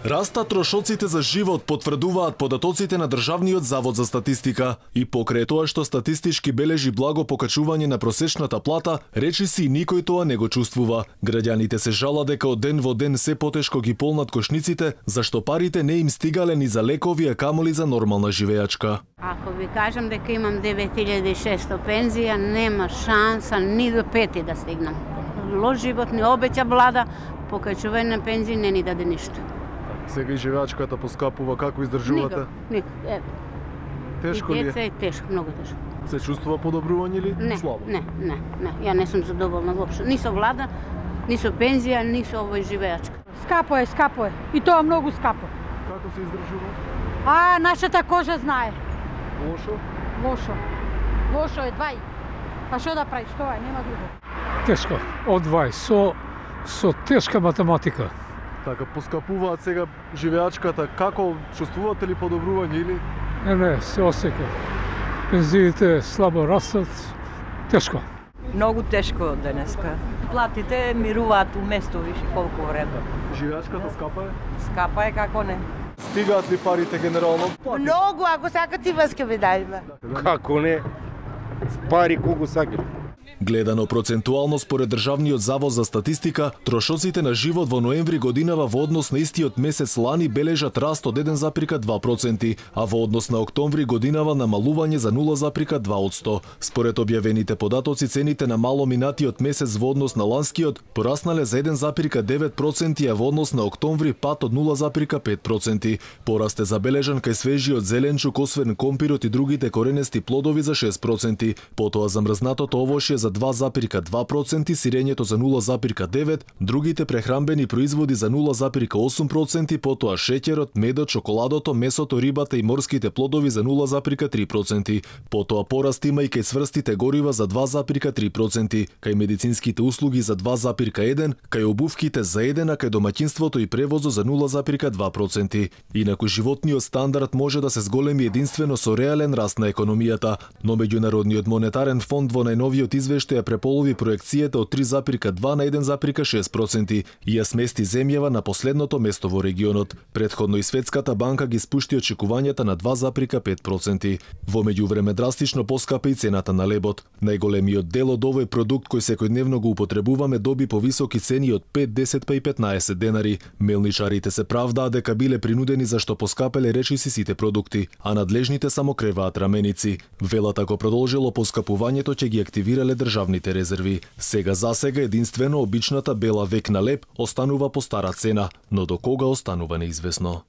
Растат трошоците за живот, потврдуваат податоците на Државниот завод за статистика. И покрај тоа што статистички бележи благо покачување на просечната плата, речиси никој тоа не го чувствува. Граѓаните се жалат дека од ден во ден се потешко ги полнат кошниците, зашто парите не им стигале ни за лекови, а камоли за нормална живеачка. Ако ви кажам дека имам 9600 пензија, нема шанса ни до 5 да стигнам. Лош живот ни обеќа влада, покачување на пензии не ни даде ништо. Сега и живеачката поскапува, како издржувате? Никак. Тешко ли е? Деца е тешко, многу тешко. Се чувствува подобрување или слабо? Не. Ја не сум задоволна воопшто. Ни со влада, ни со пензија, ни со овој живеачка. Скапо е. И тоа многу скапо. Како се издржува? Нашата кожа знае. Лошо? Лошо е 20. Па што да правиш, тоа е, нема друго. Тешко, од 20, со тешка математика. Така, поскапуваат сега живеачката, како чувствувате ли подобрување или? Не, се осека. Пензиите слабо растат, тешко. Многу тешко денеска. Платите мируваат уместо више колку време. Живеачката скапа е? Скапа е, како не. Стигаат ли парите генерално? Многу, ако сакате вас ке ви дајме. Како не? Пари колку сакате. Гледано процентуално според Државниот завод за статистика, трошоците на живот во ноември годинава во однос на истиот месец лани бележат раст од 1,2%, а во однос на октомври годинава намалување за 0,2%. Според објавените податоци, цените на мало минатиот месец во однос на ланскиот пораснале за 1,9%, а во однос на октомври пат од 0,5%. Пораст е забележан кај свежиот зеленчук, освен компирот и другите коренести плодови за 6%, потоа замрзнатото овошје за 2,2%, сирењето за 0,9%, другите прехранбени производи за 0,8%, потоа шеќерот, медот, чоколадото, месото, рибата и морските плодови за 0,3%. Потоа пораст има и кај сврстите горива за 2,3%, кај медицинските услуги за 2,1%, кај обувките за 1%, а кај домаќинството и превозот за 0,2%. Инаку животниот стандард може да се зголеми единствено со реален раст на економијата, но Меѓународниот монетарен фонд во најновиот извештај ја преполови проекцијата од 3,2 на 1,6% и ја смести земјава на последното место во регионот. Претходно и Светската банка ги спушти очекувањата на 2,5%. Во меѓувреме драстично поскапа и цената на лебот. Најголемиот дел од овој продукт кој секојдневно го употребуваме доби повисоки цени од 5, 10 па и 15 денари. Мелничарите се правдаат дека биле принудени зашто поскапеле речиси сите продукти, а надлежните само креваат раменици. Велат ако продолжило поскапувањето ќе ги активирале државните резерви. Сега единствено обичната бела векна леб останува по стара цена, но до кога останува неизвестно.